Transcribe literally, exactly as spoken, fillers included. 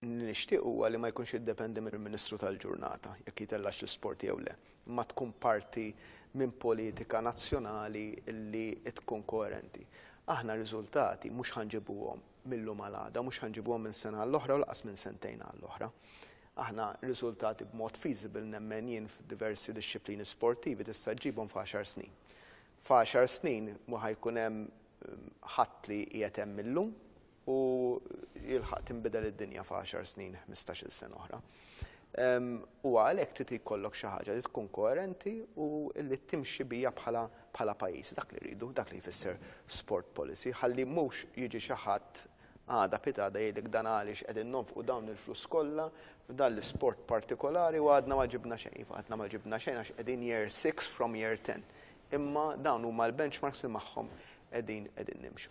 Nixtieq huwa li ma jkunx jiddependi mill-Ministru tal-ġurnata jekk jitellax l-isport jew le, imma tkun parti minn politika nazzjonali li tkun koerenti. Aħna riżultati mhux ħa nġibuhom mil-lum għal għada, mhux ħa nġibuhom minn sena għall-oħra u lanqas minn sentejn għall-oħra. Aħna riżultati b'mod feasible, nemmen jien, f'diversi dixxiplini sportivi tista' ġġibhom f'għaxar snin. F'għaxar snin ma ħa jkun hemm ħadd li qiegħed hemm illum u jilħaq tinbidel id-dinja f'għaxar snin, ħmistax-il sena oħra. U għalhekk trid jkollok xi ħaġa li tkun koerenti u li timxi bija bħala bħala pajjiż. Dak li rridu, dak li jfisser sport policy, ħalli mhux jiġi xi ħadd għada pitgħada jgħidlek dan għaliex qegħdin nonfqu dawn il-flus kollha f'dan l-isport partikolari u għadna ma ġibna xejn. Għadna ma ġibna xejn għax qegħdin year six from year ten. Imma dawn huma l-benchmarks li magħhom qegħdin qegħdin nimxu.